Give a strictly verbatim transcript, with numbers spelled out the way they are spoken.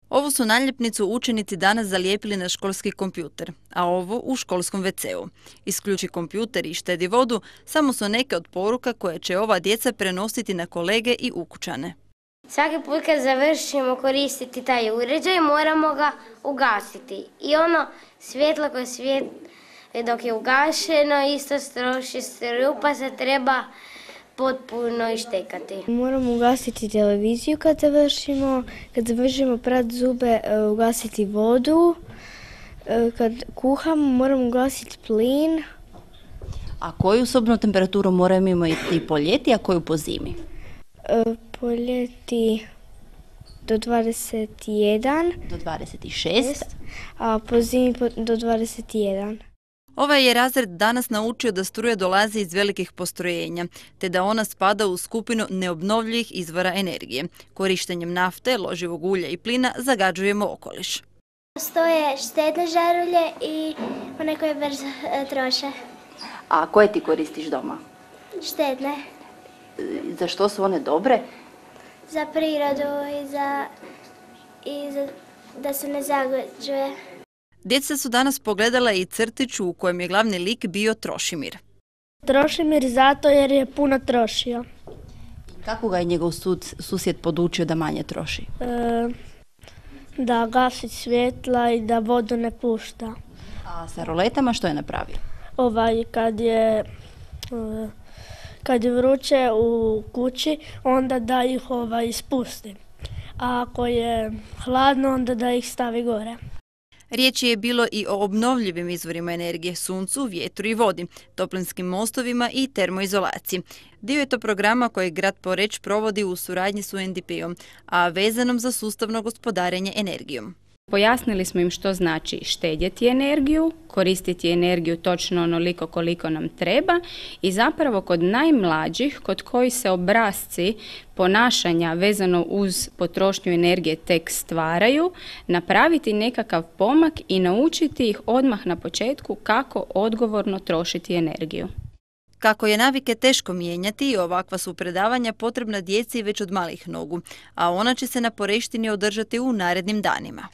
Ovu su naljepnicu učenici danas zalijepili na školski kompjuter, a ovo u školskom ve ce u. Isključi kompjuter i štedi vodu samo su neke od poruka koje će ova djeca prenositi na kolege i ukućane. Svaki put kad završimo koristiti taj uređaj, moramo ga ugasiti. I ono svjetlo koje svijet dok je ugašeno isto stroši struju, pa se treba potpuno ištekati. Moramo ugasiti televiziju kad završimo, kad završimo prati zube, ugasiti vodu, kad kuhamo moramo ugasiti plin. A koju sobnu temperaturu moramo imati po ljeti, a koju po zimi? Po ljeti do dvadeset jedan. Do dvadeset šest. A po zimi do dvadeset jedan. Ovaj je razred danas naučio da struja dolazi iz velikih postrojenja, te da ona spada u skupinu neobnovljivih izvora energije. Korištenjem nafte, loživog ulja i plina zagađujemo okoliš. Postoje štedne žarulje i one koje brzo troše. A koje ti koristiš doma? Štedne. Za što su one dobre? Za prirodu i za, i za da se ne zagađuje. Djeca su danas pogledala i crtić u kojem je glavni lik bio Trošimir. Trošimir zato jer je puno trošio. Kako ga je njegov sud, susjed podučio da manje troši? E, da gasi svjetla i da vodu ne pušta. A sa roletama što je napravio? Ovaj, kad je, kad je vruće u kući, onda da ih ovaj, ispusti. A ako je hladno, onda da ih stavi gore. Riječ je bilo i o obnovljivim izvorima energije, suncu, vjetru i vodi, toplinskim mostovima i termoizolaciji. Dio je to programa koji grad Poreč provodi u suradnji s u en de pe-om, a vezanom za sustavno gospodarenje energijom. Pojasnili smo im što znači štedjeti energiju, koristiti energiju točno onoliko koliko nam treba i zapravo kod najmlađih, kod kojih se obrasci ponašanja vezano uz potrošnju energije tek stvaraju, napraviti nekakav pomak i naučiti ih odmah na početku kako odgovorno trošiti energiju. Kako je navike teško mijenjati, ovakva su predavanja potrebna djeci već od malih nogu, a ona će se na Poreštini održati u narednim danima.